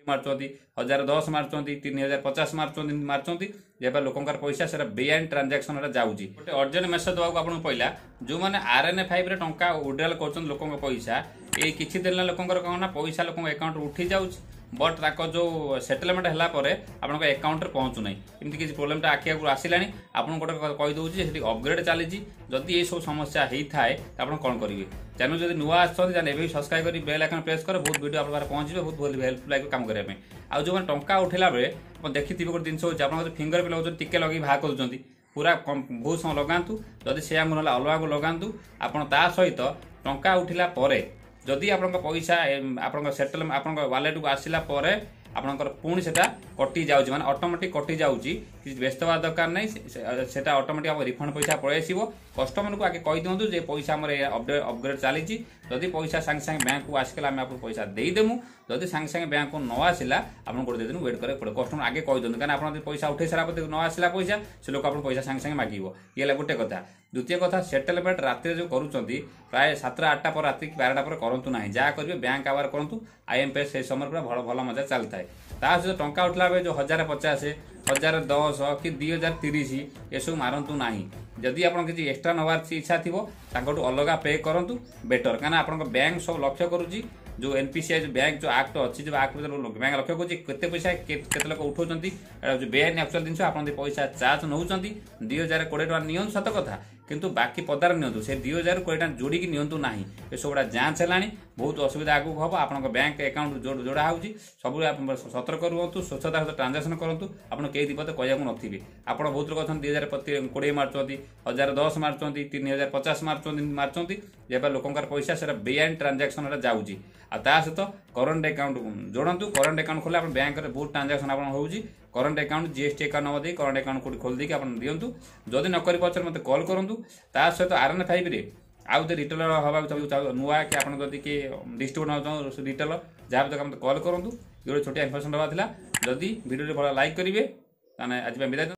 ମାରୁଛନ୍ତି, 1010 ମାରୁଛନ୍ତି, 3050 ମାରୁଛନ୍ତି, ମାରୁଛନ୍ତି ଯେବେ ଲୋକଙ୍କର ପଇସା ସେଟା ବେଆଇନ ଟ୍ରାଞ୍ଜାକ୍ସନରେ ଯାଉଛି। ଗୋଟେ ଅର୍ଜେଣ୍ଟ ମେସେଜ ଦେବାକୁ ଆପଣଙ୍କୁ ପଇଲା, ଯେଉଁମାନେ RN5ରେ ଟଙ୍କା ୱିଡ୍ରାଲ କରୁଛନ୍ତି ଲୋକଙ୍କ ପଇସା, ଏଇ କିଛି ଦିନ ହେଲା ଲୋକଙ୍କର କ'ଣ ନା ପଇସା ଲୋକଙ୍କ ଆକାଉଣ୍ଟରୁ ଉଠି ଯାଉଛି, ବଟ୍ ତାଙ୍କ ଯେଉଁ ସେଟଲମେଣ୍ଟ ହେଲା ପରେ ଆପଣଙ୍କ ଆକାଉଣ୍ଟରେ ପହଞ୍ଚୁନାହିଁ। ଏମିତି କିଛି ପ୍ରୋବ୍ଲେମଟା ଆଖି ଆଗରୁ ଆସିଲାଣି। ଆପଣଙ୍କୁ ଗୋଟେ କହିଦେଉଛି, ସେଠି ଅପଗ୍ରେଡ୍ ଚାଲିଛି। ଯଦି ଏସବୁ ସମସ୍ୟା ହେଇଥାଏ ତ ଆପଣ କ'ଣ କରିବେ? ଚ୍ୟାନେଲ ଯଦି ନୂଆ ଆସିଛନ୍ତି, ତାହେଲେ ଏବେ ବି ସବସ୍କ୍ରାଇବ୍ କରି ବେଲ୍ ଆଇକନ୍ ପ୍ରେସ୍ କରେ, ବହୁତ ଭିଡ଼ିଓ ଆପଣଙ୍କ ପାଖରେ ପହଞ୍ଚିବ, ବହୁତ ଭଲ ହେଲ୍ପ ଲାଗିବ କାମ କରିବା ପାଇଁ। ଆଉ ଯେଉଁମାନେ ଟଙ୍କା ଉଠେଇଲା ବେଳେ ଆପଣ ଦେଖିଥିବେ, ଗୋଟେ ଜିନିଷ ହେଉଛି ଆପଣଙ୍କ ଫିଙ୍ଗର ପ୍ରିଣ୍ଟ ଲଗାଉଛନ୍ତି, ଟିକେ ଲଗେଇ ବାହାର କରୁଛନ୍ତି, ପୁରା ବହୁତ ସମୟ ଲଗାନ୍ତୁ। ଯଦି ସେ ଆଙ୍ଗୁଳ ନହେଲେ ଅଲଗା ଆଙ୍ଗୁଳ ଲଗାନ୍ତୁ ଆପଣ। ତା ସହିତ ଟଙ୍କା ଉଠିଲା ପରେ ଯଦି ଆପଣଙ୍କ ପଇସା ଆପଣଙ୍କ ସେଟଲ ଆପଣଙ୍କ ୱାଲେଟକୁ ଆସିଲା ପରେ ଆପଣଙ୍କର ପୁଣି ସେଟା କଟି ଯାଉଛି, ମାନେ ଅଟୋମେଟିକ୍ କଟି ଯାଉଛି, କିଛି ବ୍ୟସ୍ତ ହେବା ଦରକାର ନାହିଁ। ସେଟା ଅଟୋମେଟିକ୍ ଆମ ରିଫଣ୍ଡ ପଇସା ପଳେଇ ଆସିବ। କଷ୍ଟମରକୁ ଆଗେ କହିଦିଅନ୍ତୁ ଯେ ପଇସା ଆମର ଅପଗ୍ରେଡ୍ ଚାଲିଛି, ଯଦି ପଇସା ସାଙ୍ଗେ ସାଙ୍ଗେ ବ୍ୟାଙ୍କକୁ ଆସିଗଲା ଆମେ ଆପଣଙ୍କୁ ପଇସା ଦେଇଦେମୁ, ଯଦି ସାଙ୍ଗେ ସାଙ୍ଗେ ବ୍ୟାଙ୍କକୁ ନ ଆସିଲା ଆପଣଙ୍କୁ ଗୋଟେ 2 ଦିନ ୱେଟ୍ କରିବାକୁ ପଡ଼ିବ। କଷ୍ଟମର ଆଗେ କହିଦିଅନ୍ତୁ, କାରଣ ଆପଣ ଯଦି ପଇସା ଉଠେଇ ସାରିଲା ପରେ ନ ଆସିଲା ପଇସା, ସେ ଲୋକ ଆପଣଙ୍କୁ ପଇସା ସାଙ୍ଗେ ସାଙ୍ଗେ ମାଗିବ। ଇଏ ହେଲା ଗୋଟେ କଥା। ଦ୍ୱିତୀୟ କଥା, ସେଟଲମେଣ୍ଟ ରାତିରେ ଯେଉଁ କରୁଛନ୍ତି, ପ୍ରାୟ 7ଟା 8ଟା ପରେ ରାତି 12ଟା ପରେ କରନ୍ତୁ ନାହିଁ। ଯାହା କରିବେ ବ୍ୟାଙ୍କ ଆୱାର କରନ୍ତୁ। ଆଇଏମ୍ପିଏସ୍ ସେଇ ସମୟରେ ପୁରା ଭଲ ଭଲ ମଜା ଚାଲିଥାଏ। ତା ସହିତ ଟଙ୍କା ଉଠିଲା ବେଳେ ଯେଉଁ 1050, 1010 କି 2030 ଏସବୁ ମାରନ୍ତୁ ନାହିଁ। ଯଦି ଆପଣ କିଛି ଏକ୍ସଟ୍ରା ନେବାର ଇଚ୍ଛା ଥିବ, ତାଙ୍କଠୁ ଅଲଗା ପେ କରନ୍ତୁ ବେଟର, କାହିଁକିନା ଆପଣଙ୍କ ବ୍ୟାଙ୍କ ସବୁ ଲକ୍ଷ୍ୟ କରୁଛି। ଯେଉଁ ଏନ୍ପିସିଆଇ ଯେଉଁ ବ୍ୟାଙ୍କ ଯେଉଁ ଆକ୍ଟ ଅଛି, ଯେଉଁ ଆକ୍ଟ ବ୍ୟାଙ୍କ ଲକ୍ଷ୍ୟ କରୁଛି କେତେ ପଇସା କେତେ ଲୋକ ଉଠାଉଛନ୍ତି। ଏଇଟା ହେଉଛି ବେଆଇନ ଆକ୍ଚୁଆଲ ଜିନିଷ। ଆପଣ ଯଦି ପଇସା ଚାର୍ଜ ନେଉଛନ୍ତି, 2020 ଟଙ୍କା ନିଅନ୍ତୁ ସତ କଥା, କିନ୍ତୁ ବାକି ପଦାରେ ନିଅନ୍ତୁ, ସେ 2020 ଟଙ୍କା ଯୋଡ଼ିକି ନିଅନ୍ତୁ ନାହିଁ। ଏସବୁ ଗୁଡ଼ା ଯାଞ୍ଚ ହେଲାଣି, ବହୁତ ଅସୁବିଧା ଆଗକୁ ହେବ। ଆପଣଙ୍କ ବ୍ୟାଙ୍କ ଆକାଉଣ୍ଟ ଯୋଡ଼ା ହେଉଛି, ସବୁବେଳେ ଆପଣ ସତର୍କ ରୁହନ୍ତୁ, ସ୍ୱଚ୍ଛତା ସହିତ ଟ୍ରାଞ୍ଜାକ୍ସନ୍ କରନ୍ତୁ। ଆପଣ କେହି ବିପଦ କହିବାକୁ ନଥିବେ। ଆପଣ ବହୁତ ଲୋକ ଅଛନ୍ତି 2020 ମାରୁଛନ୍ତି, 1010 ମାରୁଛନ୍ତି, 3050 ମାରୁଛନ୍ତି, ମାରୁଛନ୍ତି ଯେବେ ଲୋକଙ୍କର ପଇସା ସେଟା ବେଆଇନ ଟ୍ରାଞ୍ଜାକ୍ସନରେ ଯାଉଛି। ଆଉ ତା ସହିତ କରେଣ୍ଟ ଆକାଉଣ୍ଟ ଯୋଡ଼ନ୍ତୁ। କରେଣ୍ଟ ଆକାଉଣ୍ଟ ଖୋଲିଲେ ଆପଣ ବ୍ୟାଙ୍କରେ ବହୁତ ଟ୍ରାଞ୍ଜାକ୍ସନ୍ ଆପଣ ହେଉଛି। Current account, GST account number ଦେଇ କରେଣ୍ଟ ଆକାଉଣ୍ଟ କୋଉଠି ଖୋଲି ଦେଇକି ଆପଣ ଦିଅନ୍ତୁ। ଯଦି ନ କରିପାରୁଛନ୍ତି, ମୋତେ କଲ୍ କରନ୍ତୁ। ତା ସହିତ RN5ରେ ଆଉ ଯଦି ରିଟେଲର ହେବାକୁ ନୂଆ କି ଆପଣ ଯଦି କିଏ ଡିଷ୍ଟ୍ରିବ୍ୟୁଟର ହେବାକୁ ଚାହୁଁ, ରିଟେଲର ଯାହା ବି ଦରକାର, ମୋତେ କଲ୍ କରନ୍ତୁ। ଗୋଟେ ଛୋଟିଆ ଇନଫର୍ମେସନ୍ ଦେବାର ଥିଲା। ଯଦି ଭିଡ଼ିଓଟି ଭଲ ଲାଇକ୍ କରିବେ, ତାହେଲେ ଆଜି ପାଇଁ ବିଦାୟ।